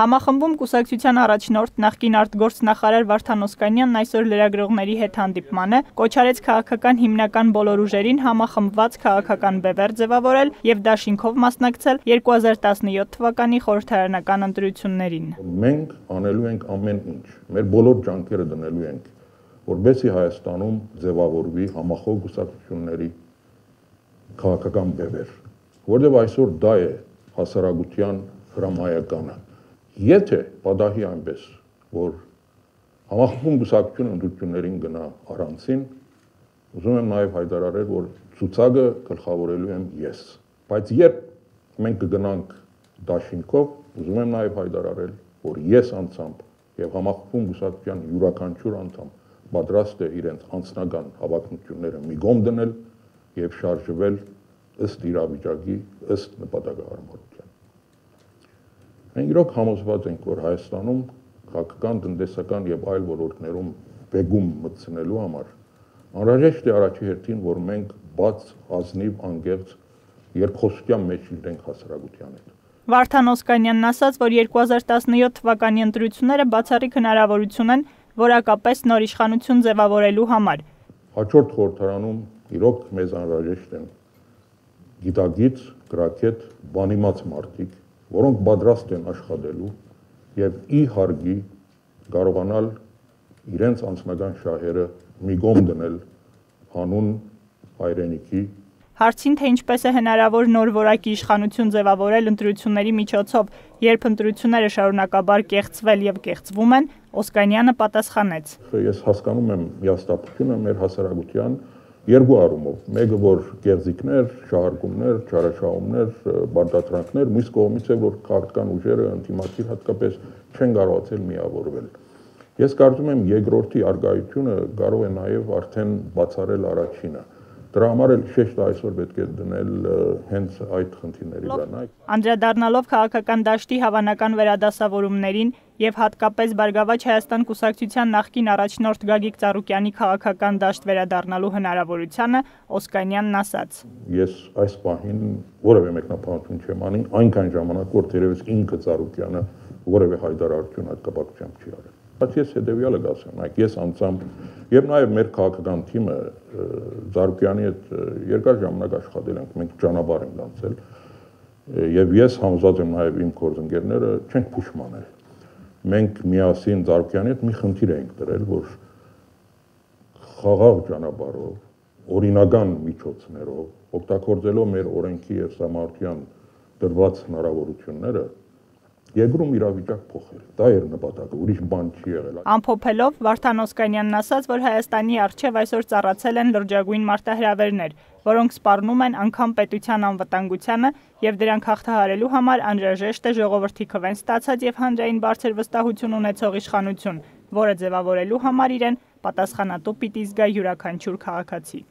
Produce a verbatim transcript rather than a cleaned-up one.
Համախմբում կուսակցության առաջնորդ նախկին արտգործնախարար Վարդան Օսկանյանն այսօր լրագրողների հետ հանդիպմանը կոչարեց քաղաքական հիմնական բոլոր ուժերին համախմբված քաղաքական բևեռ ձևավորել եւ դաշինքով մասնակցել երկու հազար տասնյոթ թվականի խորհրդարանական ընտրություններին։ Մենք անելու ենք ամեն ինչ, մեր բոլոր ջանքերը դնելու ենք, որբեսի Հայաստանում ձևավորվի համախոհ կուսակցությունների քաղաքական բևեռ, որտեղ այսօր դա է հասարակության հրամայականը։ Եթե պատահի այնպես, որ համախմբում կուսակցությունը ընտրություններին գնա առանցին, ուզում եմ նաև հայտարարել, որ ցուցակը գլխավորելու եմ ես։ Բայց երբ մենք կգնանք դաշինքով, ուզում եմ նաև հայտարարել, որ ես անձամբ եւ համախմբում կուսակցության յուրաքանչյուր անդամ պատրաստ է իրենց անձնական հավակնությունները մի կողմ դնել եւ շարժվել ըստ իրավիճակի, ըստ նպատակահարմարության։ Մենք իրոք համոզված ենք, որ Հայաստանում քաղաքական, տնտեսական եւ այլ ոլորտներում բեգում մտցնելու համար անհրաժեշտ է առաջի հերթին, որ մենք բաց, ազնիվ, անկեղծ երկխոսության մեջ լինենք հասարակության հետ։ Վարդան Օսկանյանն ասաց, որ երկու հազար տասնյոթ թվականի ընտրությունները բացառիկ հնարավորություն են որակապես նոր իշխանություն ձևավորելու համար։ Հաջորդ խորհրդարանում իրոք մեզ անհրաժեշտ են գիտագից, գրագետ, բանիմաց մարդիկ, որոնք պատրաստ են աշխատելու եւ ի հարգի կարողանալ իրենց անձնական շահերը մի կողմ դնել հանուն հայրենիքի։ Հարցին, թե ինչպես է հնարավոր նոր որակի իշխանություն ձևավորել ընտրությունների միջոցով, երբ ընտրությունները շարունակաբար կեղծվել եւ կեղծվում են, Օսկանյանը պատասխանեց. Ես հասկանում եմ միաստապությունը մեր հասարակության երկու առումով, մեկը որ կեղծիքներ, շահարկումներ, չարաշահումներ, բարտատրանքներ, մյուս կողմից է որ քաղաքական ուժերը ընդդիմադիր հատկապես չեն կարողացել միավորվել։ Ես կարծում եմ երկրորդի արգայությունը կարող է նաև արդեն բացառել առաջինը։ Դրա համար էլ շեշտ այսօր պետք է դնել հենց այդ խնդիրների վրա։ Անդրադառնալով քաղաքական դաշտի հավանական վերադասավորումներին եւ հատկապես Բարգավաճ Հայաստան կուսակցության նախկին առաջնորդ Գագիկ Ծառուկյանի քաղաքական դաշտ վերադառնալու հնարավորությանը, Օսկանյանն ասաց. Ես այս պահին որևէ մեկնաբանություն չեմ անի, այնքան ժամանակ որ դերևս ինքը Ծառուկյանը որևէ հայտարարություն այդ կապակցությամբ չի արել։ Բայց ես հետեւյալը կասեմ, այ ես անձամբ եւ նաեւ մեր քաղաքական թիմը Ծառուկյանի հետ երկար ժամանակ աշխատել ենք, մենք ճանապարհ ենք անցել եւ ես համոզված եմ նաեւ իմ գործընկերները չենք փուշմանել։ Մենք միասին Ծառուկյանի հետ մի խնդիր ենք դրել, որ խաղաղ ճանապարհով, օրինական միջոցներով, օգտագործելով մեր օրենքի եւ համարտության դրված հնարավորությունները Երկրում իրավիճակ փոխել։ Դա էր նպատակը, ուրիշ բան չի եղել։ Ամփոփելով Վարդան Օսկանյանն ասաց, որ Հայաստանի առջև այսօր ծառացել են լրջագույն մարտահրավերներ, որոնք սպառնում են անգամ պետության անվտանգությանը եւ դրանք հաղթահարելու համար անհրաժեշտ է ժողովրդի քվեն ստացած եւ հանրային բարձր վստահություն ունեցող իշխանություն, որը ձևավորելու համար իրեն պատասխանատու պիտի զգա յուրաքանչյուր քաղաքացի։